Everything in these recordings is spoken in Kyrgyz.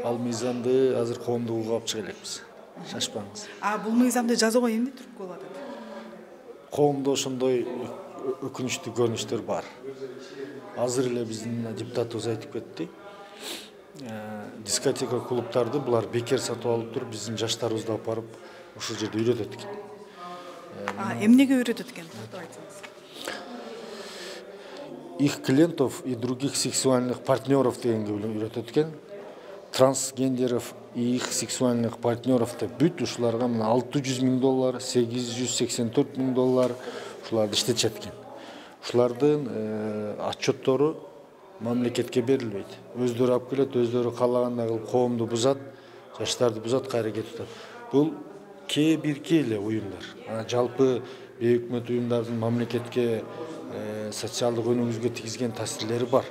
Ал мыйзамды азыр коомдугуга алып чыга элекпиз. Шашпаңыз. Бул мыйзамды жасоого эмне түрткү болуп атат? Коомдо ошондой өкүнүчтүү көрүнүштөр бар. Азыр эле биздин депутатыбыз айтып кетти. Дискотека клубтарды булар бекер сатып алып туруп, биздин жаштарыбызды алып барып ушул жерде үйрөтөт экен. Эмнеге үйрөтөт экен? Токтоп айтсаңыз. Их клиентов и других сексуальных партнеров дегенге үйрөтөт экен. Трансгендеров и их сексуальных партнеров деп бүт ушуларга $600,000, $884,000 ушуларды иштетишет экен. Ушулардын отчеттору мамлекетке берилбейт. Өздөрү алып келет, өздөрү каалагандай кылып коомду бузат, жаштарды бузат, кайра кетип атат. Бул бирки эле уюмдар. Жалпы бейөкмөт уюмдардын мамлекетке социалдык өнүгүүгө тийгизген таасирлери бар.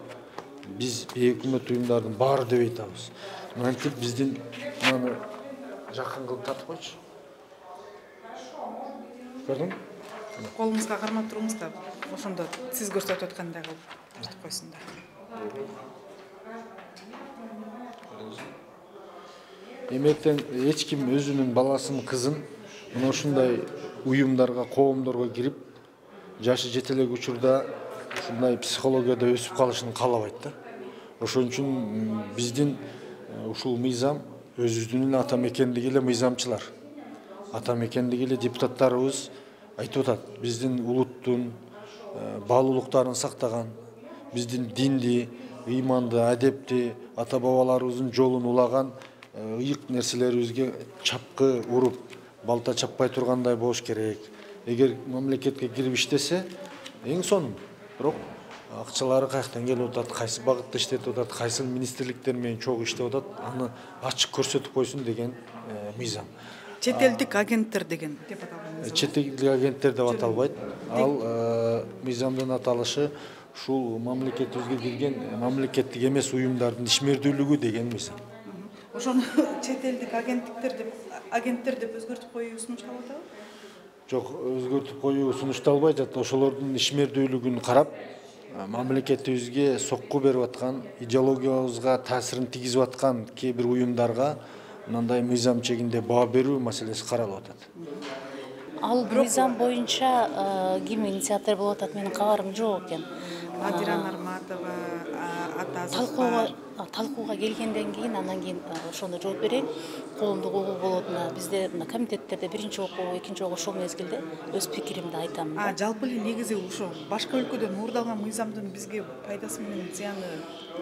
Биз бейөкмөт уюмдардын баары деп айтабыз. Мынтип биздин маны жакын кылып татып койчу. Көрдүңбү? Колуңузга кармап туруңуз да, ошондо сиз көрсөтүп аткандай кылып тартып койсун да. Эмектен эч ким өзүнүн баласын, кызын мына ушундай уюмдарга, коомдорго кирип, жашы жете элек учурда ушундай психологияда өсүп калышын каалабайт да. Ошон үчүн биздин ушул мыйзам өзүбүздүн ата мекендиги эле мыйзамчылар, ата мекендиги эле депутаттарыбыз айтып атат. Биздин улуттун баалуулуктарын сактаган, биздин динди, ыйманды, адепти, ата бабаларыбыздын жолун улаган ыйык нерселерибизге чапкы уруп, балта чаппай тургандай болуш керек. Эгер мамлекетке кирип иштесе, эң сонун. Бирок акчалары каяктан келип атат, кайсы багытта иштетип атат, кайсы министрликтер менен чогуу иштеп атат, аны ачык көрсөтүп койсун деген мыйзам. Чет элдик агенттер деген деп аталган. Чет элдик агенттер деп аталбайт. Ал мыйзамдын аталышы ушул мамлекетибизге кирген мамлекеттик эмес уюмдардын ишмердүүлүгү деген мыйзам. Ошону чет элдик агенттер деп өзгөртүп коюу сунушталып атабы? Жок, өзгөртүп коюу сунушталбайт. Ошолордун ишмердүүлүгүн карап, мамлекетибизге сокку берип аткан, идеологиябызга таасирин тийгизип аткан кээ бир уюмдарга мындай мыйзам чегинде баа берүү маселеси каралып атат. Ал мыйзам боюнча ким инициатор болуп атат, менин кабарым жок экен. Адира Нарматова, Ата Азатбай. Талкууга келгенден кийин, андан кийин ошондо жооп берейин. Коомдук угуу болот. Бизде комитеттерде биринчи окуу, экинчи окуу ошол мезгилде өз пикиримди айтам. Жалпы эле негизи ошо башка өлкөдөн уурдалган мыйзамдын бизге пайдасы менен зыяны.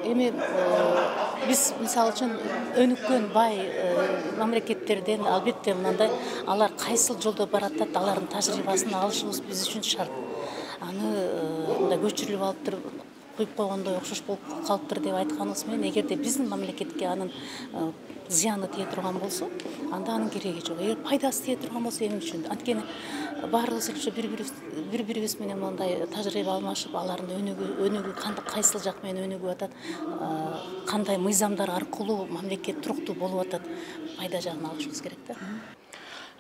Эми биз мисалы үчүн өнүккөн бай мамлекеттерден албетте мындай алар кайсыл жолдо баратат, алардын тажрыйбасын алышыбыз биз үчүн шарт. Аны мындай көчүрүлүп алыптыр, куюп койгондой окшош болуп калыптыр деп айтканыбыз менен, эгерде биздин мамлекетке анын зыяны тие турган болсо, анда анын кереги жок. Эгер пайдасы тие турган болсо, эмне үчүн? Анткени баарыбыз эле бири-бирибиз менен мындай тажрыйба алмашып, алардын өнүгүү кайсыл жак менен өнүгүп атат, кандай мыйзамдар аркылуу мамлекет туруктуу болуп атат, пайда жагын алышыбыз керек да.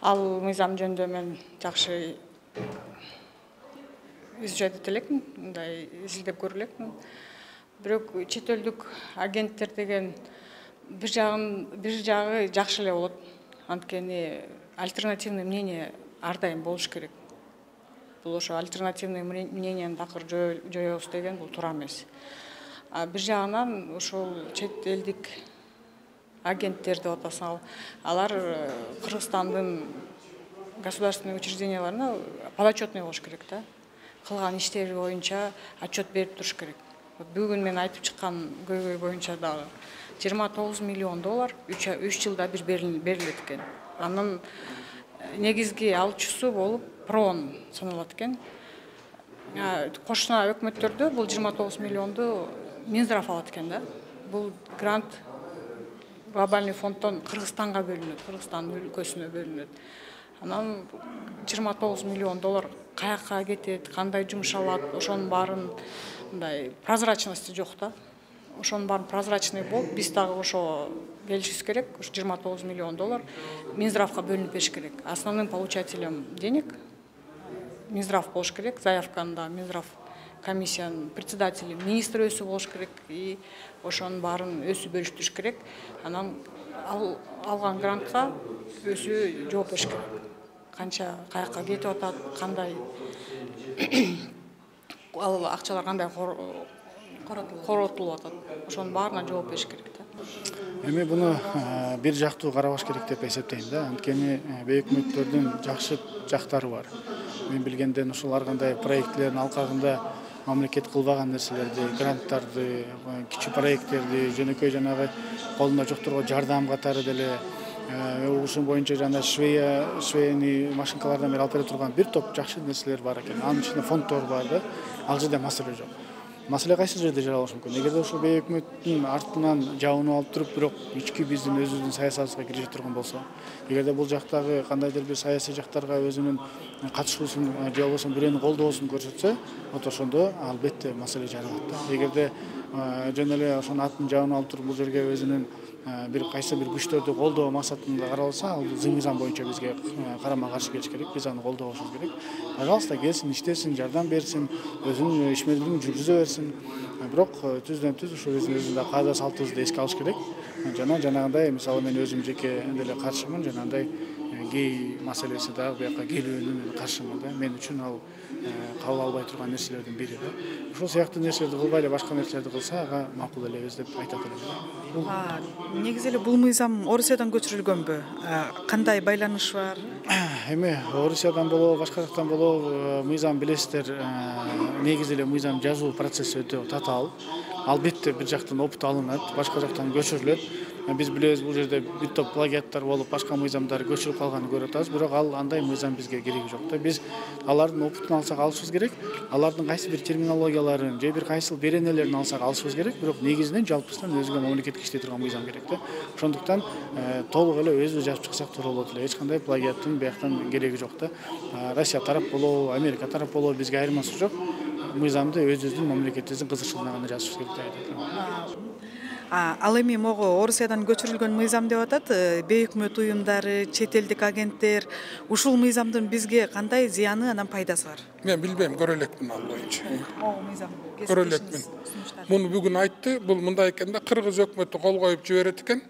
Ал мыйзам жөнүндө мен жакшы изучать ете элекмин, мындай изилдеп көрө элекмин. Бирок чет элдик агенттер деген бир жагы жакшы эле болот. Анткени альтернативный мнение ар дайым болуш керек. Бул ошо альтернативный мненияны такыр жоёбуз деген бул туура эмес. Бир жагынан ошол чет элдик агенттер деп атасың, алар Кыргызстандын государственный учрежденияларына подотчетный болуш керек да. Кылган иштери боюнча отчет берип туруш керек. Бүгүн мен айтып чыккан көйгөй боюнча дагы $29 миллион 3 жылда бир берилет экен. Анын негизги алуучусу болуп ПРООН саналат экен. Кошуна өкмөттөрдө бул 29 миллионду Минздрав алат экен да. Бул грант глобальный фонддон Кыргызстанга бөлүнөт, Кыргызстан өлкөсүнө бөлүнөт. Анан $29 миллион каяка кетет, кандай жумшалат, ошонун баарын мындай прозрачности жок да. Ошонун баарын прозрачный болуп, биз дагы ошо келишибиз керек. Ошо $29 миллион Минздравга бөлүнүп бериш керек. Основным получателем денег Минздрав болуш керек. Заявканы да Минздрав комиссиянын председатели министр өзү болуш керек, и ошонун баарын өзү бөлүштүрүш керек. Анан алган грантка өзү жооп бериш керек. Канча каяка кетип атат, кандай ал акчалар кандай коротулуп атат, ошонун баарына жооп бериш керек да. Эми буну бир жактуу карабаш керек деп эсептейм да. Анткени өкмөттөрдүн жакшы жактары бар. Мен билгенден ушул ар кандай проектлердин алкагында мамлекет кылбаган нерселерди, гранттарды, кичи проекттерди, жөнөкөй жанагы колунда жокторго жардам катары деле ушун боюнча жана швейный машинкалардан бери алып бере турган бир топ жакшы нерселер бар экен. Анын ичинде фонддор бар да. Ал жерде маселе жок. Маселе кайсы жерде жаралышы мүмкүн? Эгерде ушул өкмөттүн артынан жабынып алып туруп, бирок ички биздин өзүбүздүн саясатыбызга киришип турган болсо, эгерде бул жактагы кандайдыр бир саясий жактарга өзүнүн катышуусун же болбосо бирөөнүн колдоосун көрсөтсө, ошондо албетте маселе жаралат да. Эгерде жөн эле ошонун атын жабынып алып туруп бул жерге өзүнүн бир кайсы бир күчтөрдү колдоо максатында каралса, ал мыйзам боюнча бизге карама каршы келиш керек. Биз аны колдобошубуз керек. Пожалуйста, келсин, иштесин, жардам берсин, өзүнүн ишмердигин жүргүзө берсин. Бирок түздөн түз ушул өзүбүздүн каада салтыбызды эске алыш керек. Жана жанагындай, мисалы мен өзүм жеке деле каршымын, жанагындай гей маселеси дагы буяка келүүнүн каршымын да. Мен үчүн ал кабыл албай турган нерселердин бири да. Ушул сыяктуу нерселерди кылбай эле башка нерселерди кылса, ага макул элебиз деп айтат элем. Негизи эле бул мыйзам Орусиядан көчүрүлгөнбү? Кандай байланыш бар? Эми Орусиядан болобу, башка жактан болобу, мыйзам билесиздер, негизи эле мыйзам жазуу процесси өтө татаал. Албетте бир жактан опыт алынат, башка жактан көчүрүлөт. Биз билебиз, бул жерде бир топ плагиаттар болуп, башка мыйзамдар көчүрүп калганын көрүп атабыз, бирок ал андай мыйзам бизге кереги жок да. Биз алардын опытын алсак алышыбыз керек, алардын кайсы бир терминологияларын же бир кайсыл беренелерин алсак алышыбыз керек, бирок негизинен жалпысынан өзгө мамлекетке иштей турган мыйзам керек да. Ошондуктан толук эле өзүбүз жазып чыксак туура болот эле. Эч кандай плагиаттын бияктан кереги жок да. Россия тарап болобу, Америка тарап болобу, бизге айырмасы жок. Мыйзамды өзүбүздүн мамлекетибиздин кызыкчылыгына гана жазышыбыз керек деп айтат. Ал эми могу Орусиядан көчүрүлгөн мыйзам деп атат. Бейөкмөт уюмдары, чет элдик агенттер, ушул мыйзамдын бизге кандай зыяны, анан пайдасы бар? Мен билбейм, көрө элекмин ал боюнча. Могу мыйзам Көрө элекмин. Муну бүгүн айтты. Бул мындай экен да, Кыргыз өкмөтү кол коюп жиберет экен.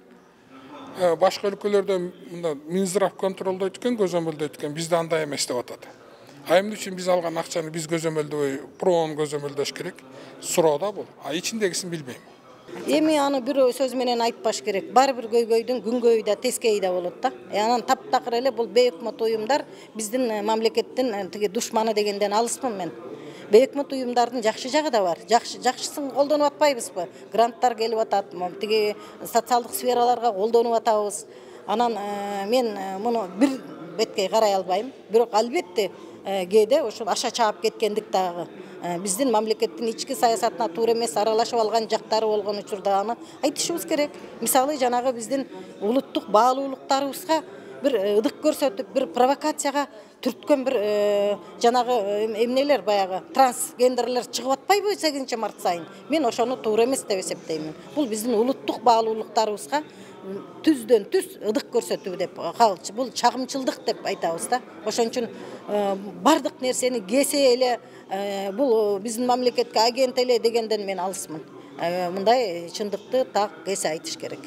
Башка өлкөлөрдө мында Минздрав контролдойт экен, көзөмөлдөйт экен. Бизде андай эмес деп атат. Эмне үчүн биз алган акчаны биз көзөмөлдөбөй, проон көзөмөлдөш керек? Суроо да бул. Ичиндегисин билбейм. Эми аны бирөө сөз менен айтпаш керек. Бар бир көйгөйдүн күнгөйү да тескейи да болот да. Анан таптакыр эле бул бейөкмөт уюмдар биздин мамлекеттин тиги душманы дегенден алыспын мен. Бейөкмөт уюмдардын жакшы жагы да бар. Жакшысын колдонуп атпайбызбы? Гранттар келип атат, тиги социалдык сфераларга колдонуп атабыз. Анан мен муну бир беткей карай албайм. Бирок албетте кээде ошол аша чаап кеткендик дагы биздин мамлекеттин ички саясатына туура эмес аралашып алган жактары болгон учурда аны айтышыбыз керек. Мисалы жанагы биздин улуттук баалуулуктарыбызга бир ыдык көрсөтүп, бир провокацияга түрткөн бир жанагы эмнелер баягы трансгендерлер чыгып атпайбы 8-март сайын? Мен ошону туура эмес деп эсептеймин. Бул биздин улуттук баалуулуктарыбызга түздөн түз ыдык көрсөтүү деп калчу. Бул чагымчылдык деп айтабыз да. Ошон үчүн бардык нерсени кесе эле бул биздин мамлекетке агент эле дегенден мен алысмын. Мындай чындыкты так кесе айтыш керек.